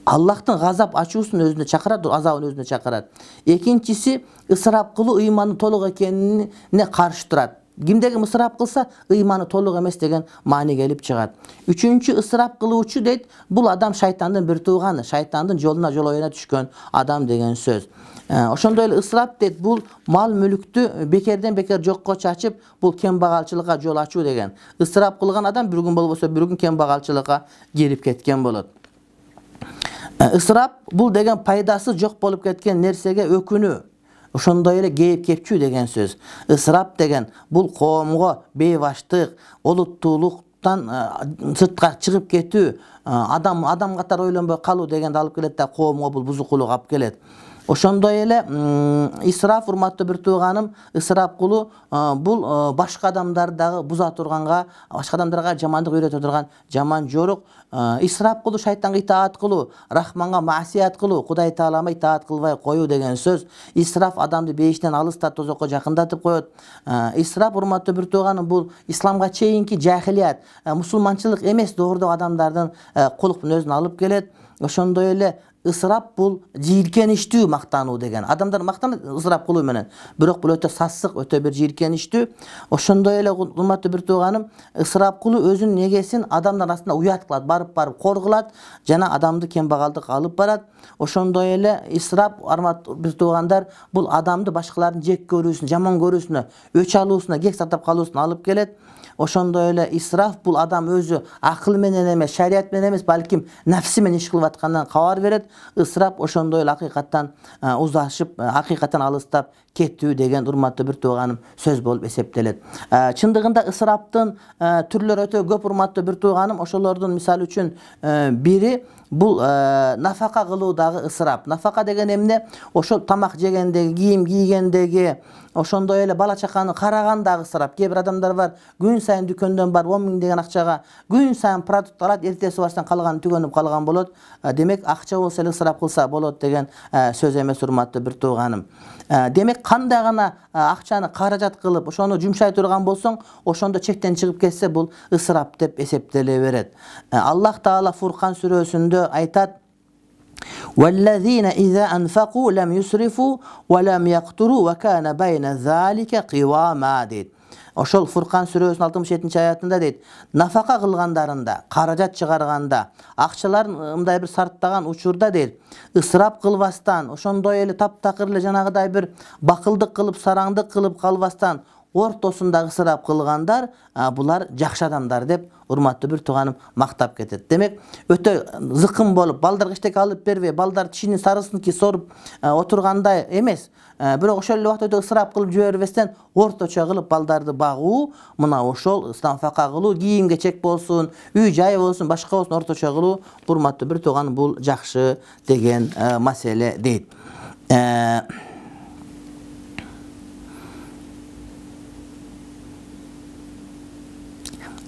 Аллахтын газап ачуусун өзүнө чакырат, азабын өзүнө чакырат. Экинчиси, ысырап кылуу ыймандын толук экенине каршы турат. Кимде ким ысырап кылса, ыйманы толук эмес деген маани келип чыгат. Үчүнчү, ысырап кылуучу дейт, бул адам шайтандын бир тууганы, шайтандын жолуна жолоюна түшкөн адам деген сөз. Ошондой эле ысырап дейт, бул мал мүлүктү бекерден бекер жокко чачып, бул кембагалчылыкка жол ачуу деген. Ысырап кылган адам бир күн болбосо бир күн кембагалчылыкка кирип кеткен болот. Ысырап бул деген пайдасы жок болуп кеткен нерсеге өкүнүү. Ошондой эле кейип кепчүү деген сөз. Ысырап деген бул коомго бейбаштык, олуттуулуктан сыртка чыгып кетүү, адам адам катары ойлонбой калуу дегенди алып келет да, коомго бул бузукулук алып келет. Ошондой эле исраф, урматтуу бир тууганым, ысырап кылуу бул башка адамдарды дагы буза турганга, башка адамдарга жамандык үйрөтө турган жаман жорук. Исраф кылуу, шайтанга итаат кылуу, Рахманга маасият кылуу, Кудай Таалама итаат кылбай коюу деген сөз. Исраф адамды бейиштен алыста, тозокко жакындатып коет. Исраф, урматтуу бир тууганым, бул исламга чейинки жахилият, мусулманчылык эмес доордогу адамдардын кулук мүнөзүн алып келет. Ошондой эле ысырап бул жийиркеништүү мактануу деген. Адамдар мактанат ысырап кылуу менен, бирок бул өтө сассык, өтө бир жийиркеништүү. Ошондой эле, урматтуу бир тууганым, ысырап кылуу өзүнүн негесин адамдар арасында уят кылат, барып-барып кор кылат жана адамды кембагалдыкка алып барат. Ошондой эле исрап, урматтуу бир туугандар, бул адамды башкалардын жек көрүүсүнө, жаман көрүүсүнө, өч алуусуна, кек сактап калуусуна алып келет. Ошондой эле исраф бул адам өзү акыл менен эмес, шарият менен эмес, балким нафси менен иш кылып аткандан кабар берет. Исраф ошондой эле акыйкаттан узашып, акыйкаттан алыстап кетүү деген, урматтуу бир тууганым, сөз болуп эсептелет. Чындыгында ысыраптын түрлөрү өтө көп, урматтуу бир тууганым. Ошолордун мисалы үчүн бири бул нафака кылуу дагы ысырап. Нафака деген эмне? Ошол тамак жегендеги, кийим кийгендеги, ошондой эле бала чаканы карагандагы ысырап. Кээ бир адамдар бар, күн сайын дүкөндөн барып он миң деген акчага күн сайын продукт алат, эртеси барсаң калганы түгөнүп калган болот. Демек акча болсо эле ысырап кылса болот деген сөз эмес, урматтуу бир тууганым. Демек кандай гана акчаны каражат кылып, ошону жумшай турган болсоң, ошондо чектен чыгып кетсе, бул ысырап деп эсептеле берет. Аллах Таала Фуркан сүрөсүндө айтат: وَالَّذِينَ إِذَا أَنْفَقُوا لَمْ يُسْرِفُوا وَلَمْ يَقْتُرُوا وَكَانَ بَيْنَ ذَلِكَ قِوَامًا дейт. Ошол Фуркан сүрөсүнүн алтымыш жетинчи аятында дейт: нафака кылгандарында, каражат чыгарганда, акчаларын мындай бир сарптаган учурда дейт, ысырап кылбастан, ошондой эле таптакыр эле жанагыдай бир бакылдык кылып, сараңдык кылып калбастан, ортосунда ысырап кылгандар, булар жакшы адамдар деп урматтуу бир тууганым мактап кетет. Демек, өтө зыкым болуп, балдарга эчтеке алып бербей, балдар тишинин сарысын ки соруп отургандай эмес. Бирок ошол эле убакта өтө ысырап кылып жибербестен, орточо кылып балдарды багуу, мына ошол нафака кылуу, кийим кечек болсун, үй жай болсун, башка болсун, орточо кылуу, урматтуу бир тууганым, бул жакшы деген маселе дейт.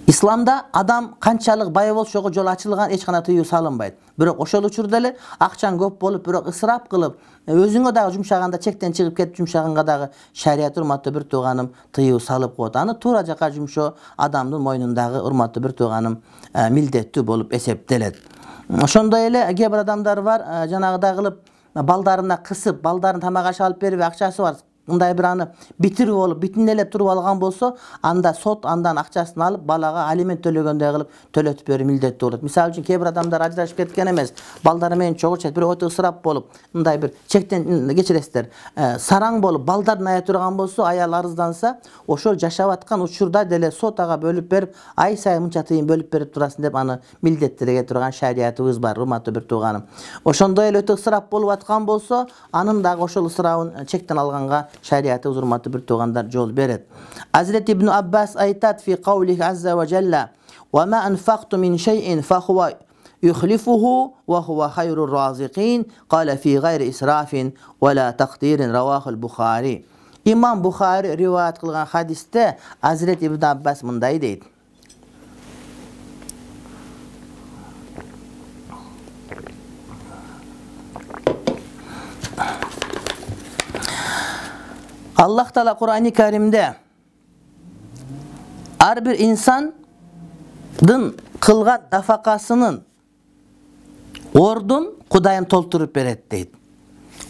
Исламда адам канчалык бай болушого жол ачылган, эч кандай тыюу салынбайт. Бирок ошол учурда эле акчаң көп болуп, бирок ысырап кылып, өзүңө дагы жумшаганда, чектен чыгып кетип жумшаганга дагы шарият, урматтуу бир тууганым, тыюу салып коет. Аны туура жака жумшоо адамдын мойнундагы, урматтуу бир тууганым, милдеттүү болуп эсептелет. Ошондой эле кээ бир адамдар бар, жанагыдай кылып балдарына кысып, балдарын тамак аш алып бербей, акчасы бар, мындай бир аны битирип болуп, бүтүнөлөп туруп алган болсо, анда сот андан акчасын алып, балага алимент төлөгөндөй кылып төлөтүп берүү милдеттүү болот. Мисалы үчүн, кээ бир адамдар ажырашып кеткен эмес, балдары менен чогуу чет, бирок өтө ысырап болуп, мындай бир чектен кечиресиздер, сараң болуп, балдарын ая турган болсо, аял арызданса, ошол жашап аткан учурда деле сот ага бөлүп берип, ай сайын мынча тыйын бөлүп берип турасың деп аны милдеттире турган шариятыбыз бар, урматтуу бир тууганым. Ошондой эле өтө ысырап болуп аткан болсо, анын дагы ошол ысырабын чектен алганга шариаты урматтуу бир туугандар жол берет. Азирет Ибн Аббас айтат фи каулихи азза ва жалла: "Ва ма анфaqtu min shay'in fa huwa yukhlifuhu wa huwa khayrur raziqin qala fi ghayri israfin wa la taqdirin", раваху al-Bukhari. Имам Бухари риваят кылган хадисте Азирет Ибн Аббас мындай дейт: Аллах Таала Кур'ани Каримде ар бир инсандын кылган нафакасынын ордун Кудайым толтуруп берет дейт.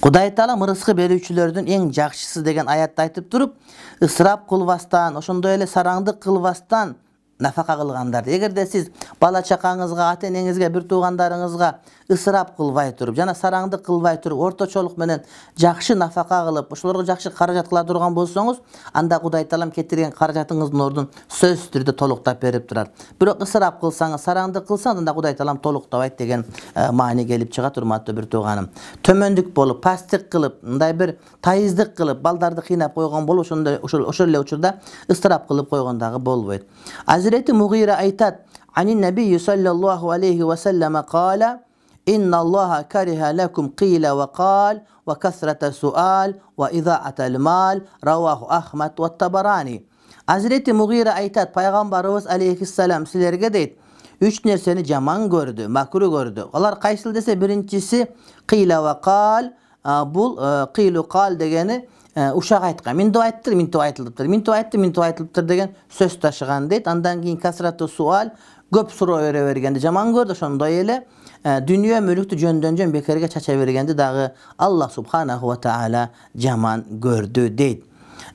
Кудай Таала мырыскы берүүчүлөрдүн эң жакшысы деген аятты айтып туруп, ысырап кылбастан, ошондой эле сараңдык кылбастан нафака кылгандар. Эгерде сиз бала чакаңызга, ата энеңизге, бир туугандарыңызга ысырап кылбай туруп, жана сараңдык кылбай туруп, орточолук менен жакшы нафака кылып, ошолорго жакшы каражат кыла турган болсоңуз, анда Кудай Таалам кетирген каражатыңыздын ордун сөзсүз түрдө толуктап берип турат. Бирок ысырап кылсаңыз, сараңдык кылсаңыз, анда Кудай Таалам толуктабайт деген маани келип чыгат, урматтуу бир тууганым. Төмөндүк болуп, пасттык кылып, мындай бир тайыздык кылып, балдарды кыйнап койгон болуп, ошондой ошол ошол эле учурда ысырап кылып койгон дагы болбойт. Азирети Мугира айтат: "Анин набий саллаллаху алейхи ва саллама кала: Инна Аллаха кариха лакум қила ва қал ва касрата суал ва идаатал мал", раваху Ахмад ва Табарани. Азирети Мугира айтат: пайгамбарыбыз алейхиссалам силерге дейт, үч нерсени жаман көрдү, макру көрдү. Алар кайсыл десе, биринчиси қила ва қал. Бул қилу қал дегени ушак айткан. Минтип айттыр, минтип айтылыптыр, минтип айтты, минтип айтылыптыр деген сөз ташыган дейт. Андан кийин касрата суал, көп суроо бере бергенди жаман көрдү. Ошондой эле дүнүйө мүлүктү жөндөн жөн бекерге чача бергенди дагы Аллах субханаху ва таала жаман көрдү дейт.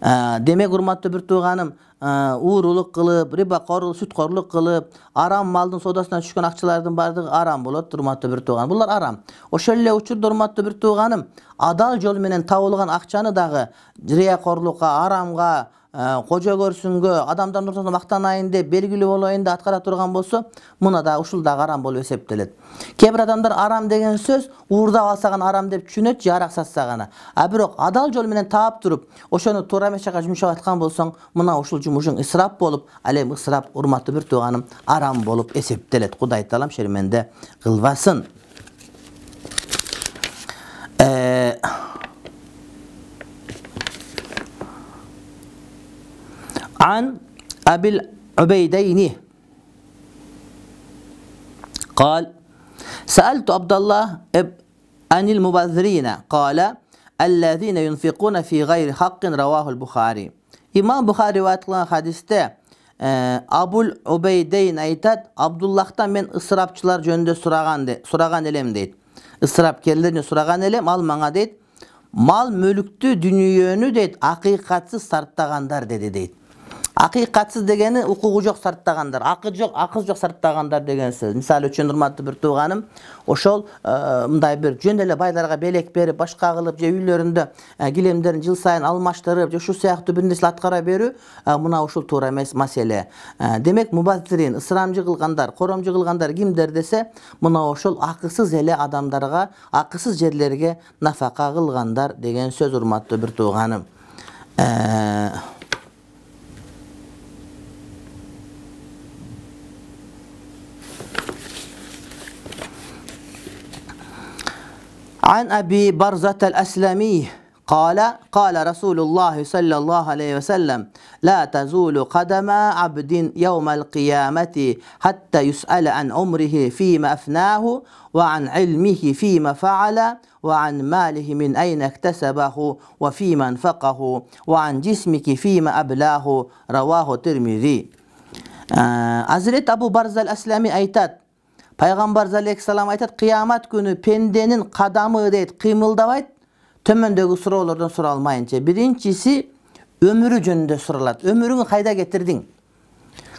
Демек, урматтуу бир тууганым, уурулук кылып, рибакорлук, сүткорлук кылып, арам малдын содасына түшкөн акчалардын бардыгы арам болот, урматтуу бир тууганым. Булар арам. Ошол эле учурда, урматтуу бир тууганым, адал жол менен табылган акчаны дагы риякорлукка, арамга, кожо көрсүнгө, адамдардын ортосунда мактанайын деп, белгилүү болоюн деп аткара турган болсо, муна да ушул дагы арам болуп эсептелет. Кээ бир адамдар арам деген сөз уурдап алса гана арам деп түшүнөт, же арак сатса гана. А бирок адал жол менен таап туруп, ошону туура эмес жака жумшап аткан болсоң, мына ушул жумушуң ысырап болуп, ал эми ысырап, урматтуу бир тууганым, арам болуп эсептелет. Кудай Таалам шерменде кылбасын. An Abil Ubeydeyni قال سألت عبد الله عن المبذرين قال الذين ينفقون في غير حق رواه البخاري. İmam Bukhari rivayet kılan hadiste e, Abul Ubeydeyn aytat, Abdullah'tan men ısrapçılar jönündө suragan de, suragan elem deyt. Israpkerlerine suragan elem, al maňa deyt, mal mülüktü dünyönü deyt, akikatsız sarttagandar dedi deyt. Akikatsız degeni ukugu jok sarttagandar, akı jok, akız jok sarttagandar degen söz. Misal üçün urmatly bir tuğanım, oşol mындай bir jön ele baylarga belek berip, başka kılıp, je üylöründө gilemlerin jıl sayın almaştırıp, je şu sayaktуу bir nesle atkara berүү, muna oşol tуура эмес masele. Demek mubazzirin, ısramcı kılgandar, koromcu kılgandar kimder dese, muna oşol akısız ele adamlarga, akısız jerlerge nafaka kılgandar degen söz urmatly bir tuğanım. Eee عن أبي برزة الأسلمي قال قال رسول الله صلى الله عليه وسلم لا تزول قدم عبد يوم القيامة حتى يسأل عن عمره فيما أفناه وعن علمه فيما فعل وعن ماله من أين اكتسبه وفيما انفقه وعن جسمك فيما أبلاه رواه الترمذي. Hazreti Abu Barza el-Aslami aytat, Peygamber aleyhisselam aytat, kıyamet günü pendenin kadamı deyt, kıymıldabayt, tömöndögü soralardan soralmayınca. Birincisi ömürü jönündө soralat. Ömürüňi kayda getirdin?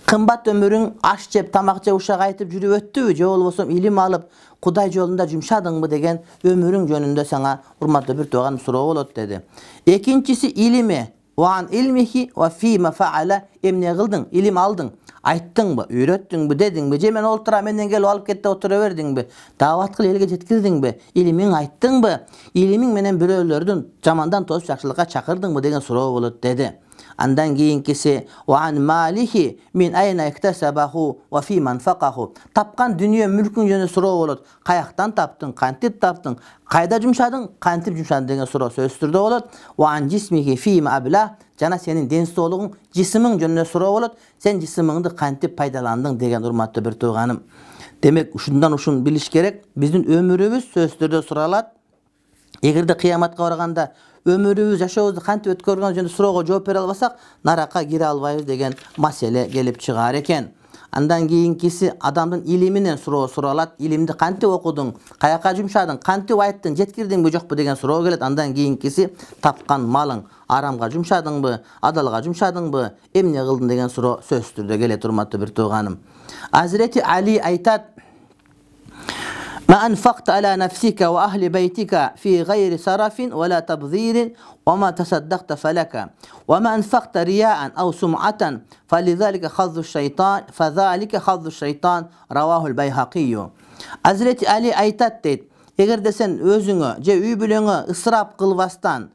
Kımbat ömürüň aş jep, tamak jep, uşak aytıp jürüp öttübü, je bolbosam ilim alıp Kuday jolunda jumşadыңбы degen ömürüň jönündө sana urmatly bir tuğan soroo bolot dedi. Ekinçisi ilimi, wa an ilmihi wa fima faala, emne kıldın, ilim aldın. Ayttыңбы, үйrөттүңбү, dedиңби, же men oltura menden gelip alıp ketip otura berdiңби, davat kıl elge jetkirdiңби, ilimiň ayttыңбы, ilimiň menen biröөлөрдүn jamandan tozup jakşılıkka çakırdıңбы degen soroo bolot dedi. Andan keyinkisi wa an malihi min ayna iktasabahu wa fi manfaqahu. Tapkan dünya mülkün jönündө soroo bolot. Kayaktan taptın, kantip taptın, kayda jumşadың, kantip jumşadың degen soroo söz türdө bolot. Wa an jismihi fi ma abla. Jana senin densoğluğun, jisimiň jönündө soroo bolot. Sen jisimiňdi kantip paydalandyň degen urmatly bir tuğanım. Demek uşundan uşun biliş gerek. Bizdin ömürübüz söz türdө soralat. Egerde kıyamatga barganda ömürübüz, yaşaýyşybızdy kantip ötkөрgөн jönündө sorooga жооп бере albasak, naraka gire albayбыз degen masele gelip çıgar eken. Andan keyinkisi adamdın iliminen soroo soralat. İlimdi kantip okuduň, kayaka jumşadyň, kantip aytdyň, jetkirdiňbi jokpu degen soroo gelet. Andan keyinkisi tapkan malyň aramga jumşadyňby, adalga jumşadyňby, emne kıldın degen soroo söz türdө gelet urmatly bir tuğanım. Hazreti Ali aytat, ما أنفقت على نفسك وأهل بيتك في غير سرف ولا تبذير وما تصدقت فلك وما أنفقت رياء أو سمعة فلذلك حظ الشيطان فذلك حظ الشيطان رواه البيهقي. Hazreti Ali aytat deyt, eger de sen özüňe je üy bileňe ısrap kılbastan,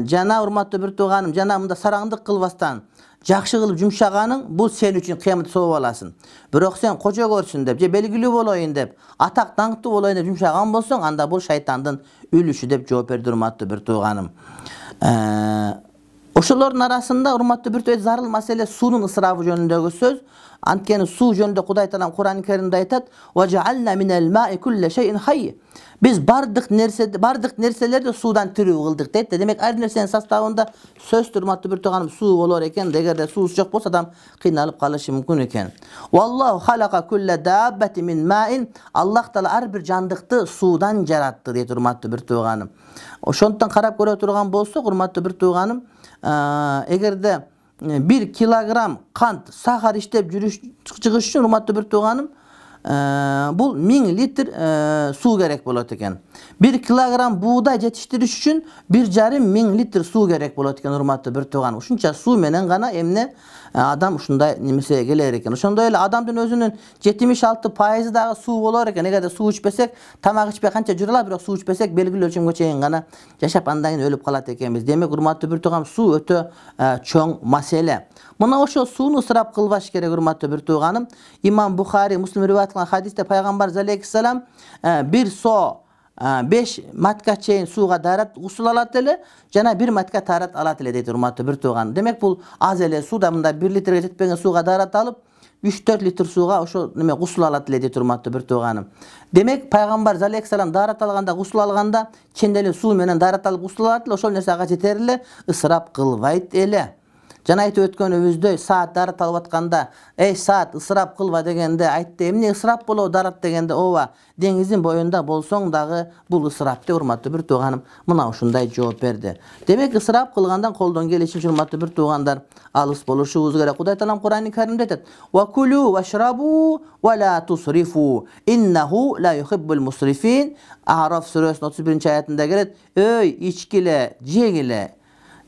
jana urmatly bir tuğanım, jana mында saraňdyk kılbastan jakşı kılıp jumşagaның, bul sen üçün kıyamet soğup alasın. Birok sen koca görsün dep, je belgili boloyun dep, atak tankты boloyun dep jumşagan bolsoň, anda bul şaytandın ülüşü dep жооп berdi urmatly bir tuğanım. Oşolorun arasında urmatly bir tuğanım zarıl masele suunun ısrafı jönündögü söz. Antkeni su jönündө Kuday Taalam Kur'an-ı Kerimde aytat, "Ve cealna minel ma'i kulle şeyin hayy." Biz bardyk nerse bardyk nerselerde sudan türüp kıldık deyt. Demek her nersenin sastavında söz turmatly bir tuğanım su bolar eken, egerde su jok bolsa adam kıynalıp kalışı mümkün eken. Wallahu halaka kulle dabbati min ma'in. Allah Taala her bir jandykty sudan jaratdy deyt urmatly bir tuğanım. Oşondan karap göre turgan bolsak urmatly bir tuğanım, egerde bir kilogram kant sahar iştep jürüş çıkış üçün urmatly bir tuğanım, bul ming litr su gerek bolat eken. Bir kilogram buğday jetiştiriş üçün bir jarım ming litr su gerek bolat eken urmatly bir tuğanım. Uşunça su menen gana emne adam uşunday nemese geler eken. Ошондой эле adamdын özünün yetmiş altı пайызы dagı su bolar eken. Egerde su içpesek, tamak içpe kança jurala, birok su içpesek belgili ölçümge çeyin gana yaşap andan keyin ölüp kalat ekenmiz. Demek urmatly bir tuğanım, su ötö çoň masele. Muna oşo suunu ısrap kılbaş gerek urmatly bir tuğanım. İmam Bukhari, Müslim rivayet kılan hadiste Peygamber aleyhisselam bir so беш матка чейин сууга даарат гусул алат эле жана бир матка таарат алат эле дейт урматтуу бир тууган. Демек бул аз эле сууда мында бир литрге жетпеген сууга даарат алып үч төрт литр сууга ошо неме гусул алат эле дейт урматтуу бир тууганым. Демек пайгамбар алейхиссалам даарат алганда гусул алганда чын деле суу менен даарат алып гусул алат эле, ошол нерсе ага жетер эле, ысырап кылбайт эле. Жана айтып өткөнүбүздөй саат даарат алып атканда эй саат ысырап кылба дегенде айтты, эмне ысырап болобу даарат дегенде ооба деңиздин боюнда болсоң дагы бул ысырап деп урматтуу бир тууганым мына ушундай жооп берди. Демек ысырап кылгандан колдон келишинче урматтуу бир туугандар алыс болушубуз керек. Кудай Таалам Кур'ан-ы Каримде айтат: "Ва кулу вашрабу ва ла тусрифу, иннаху ла юхиббул мусрифин." Араф сүрөсүнүн отуз биринчи аятында келет: "Өй, ичкиле, жегиле,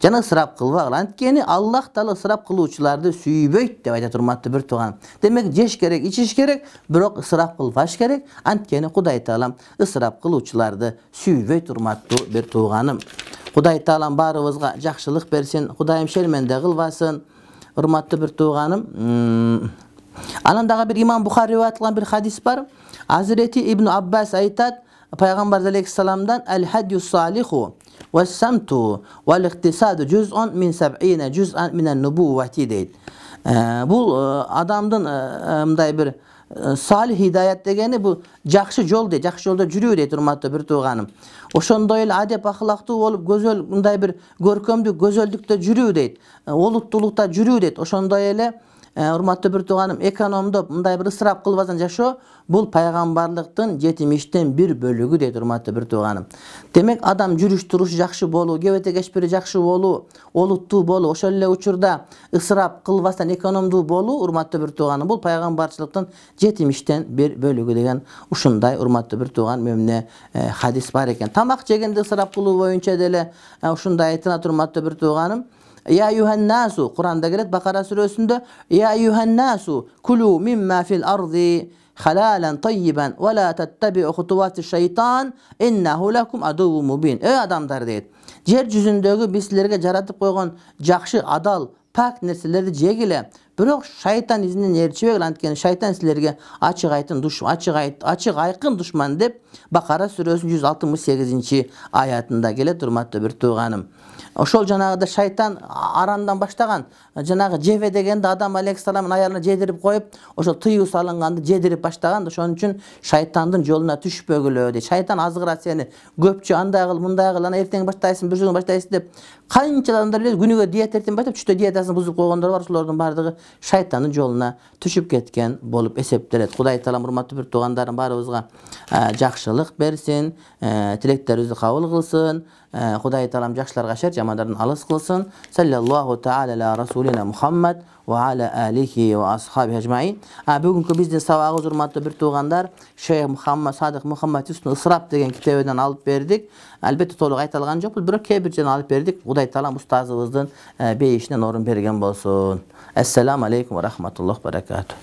жана ысырап кылбагыла. Анткени Аллах Таала ысырап кылуучуларды сүйбөйт" деп айтат урматтуу бир тууган. Демек жеш керек, ичиш керек, бирок ысырап кылбаш керек. Анткени Кудай Таалам ысырап кылуучуларды сүйбөйт урматтуу бир тууганым. Кудай Таалам баарыбызга жакшылык берсин, Кудайым шерменде кылбасын. Урматтуу бир тууганым, анан дагы бир имам Бухари риваят кылган бир хадис бар. Азирети Ибн Аббас айтат, пайгамбар алейхиссаламдан: "Аль-хадю салиху вас-самту вал-ихтисаду жуз'ун мин саб'ина жуз'ан минан нубуввати" дейт. Бул адамдын мындай бир салих хидаят дегени бул жакшы жол дейт, жакшы жолдо жүрүү дейт урматтуу бир тууганым. Ошондой эле адеп ахлактуу болуп, көзөл мындай бир көркөмдүү көзөлдүктө жүрүү дейт, олуттуулукта жүрүү дейт. Ошондой эле урматтуу бир тууганым, экономдоп мындай бир ысырап кылбастан жашоо бул пайгамбарлыктын жетимиштен бир бөлүгү дейт урматтуу бир тууганым. Демек адам жүрүш турушу жакшы болуу, кебете кечпири жакшы болуу, олуттуу болуу, ошол эле учурда ысырап кылбастан экономдуу болуу урматтуу бир тууганым бул пайгамбарчылыктын жетимиштен бир бөлүгү деген ушундай урматтуу бир тууган мемне хадис бар экен. Тамак жегенде ысырап кылуу боюнча деле ушундай айтылат урматтуу бир тууганым. Я юханнасу, Кур'анда келет Бакара сүрөсүндө: "Я юханнасу кулу мимма фил арди халалан таййибан ва ла таттабиу хутувати шайтан иннаху лакум адуввун мубин." Эй адамдар дейт, жер жүзүндөгү биз силерге жаратып койгон жакшы, адал, пак нерселерди жегиле, бирок шайтан изинен ээрчибегиле, анткени шайтан силерге ачык айтын душман, ачык ачык айкын душман деп Бакара сүрөсүнүн жүз алтымыш сегизинчи аятында келет урматтуу бир тууганым. Ошол жанагыда шайтан арандан баштаган, жанагы жебе дегенде Адам алейхиссаламдын аялына жедирип коюп, ошол тыюу салынганды жедирип баштаган. Ошон үчүн шайтандын жолуна түшпөгүлө дейт. Шайтан азгырат сени, көпчү андай кыл, мындай кыл, ана эртең баштайсың, бүрсүгүн баштайсың деп канча адамдар билет, күнүгө диета эртең баштап түштө диетасын бузуп койгондор бар. Ошолордун баардыгы шайтандын жолуна түшүп кеткен болуп эсептелет. Кудай Таалам урматтуу бир туугандарым баарыбызга жакшылык берсин, тилектерибизди кабыл кылсын. Кудай Таалам жакшыларга шер, жамандардан алыс кылсын. Саллаллаху таала аля расулина Мухаммад ва аля алихи ва асхаби ажмаин. Бүгүнкү биздин сабагыбыз урматтуу бир туугандар, Шейх Мухаммад Садык Мухаммад Юсуф Ысырап деген китебинен алып бердик. Албетте толук айтылган жокпуз, бирок кээ бир жерден алып бердик. Кудай Таалам устазыбыздын бейишинен орун берген болсун. Ассаламу алейкум ва рахматуллахи ва баракатуh.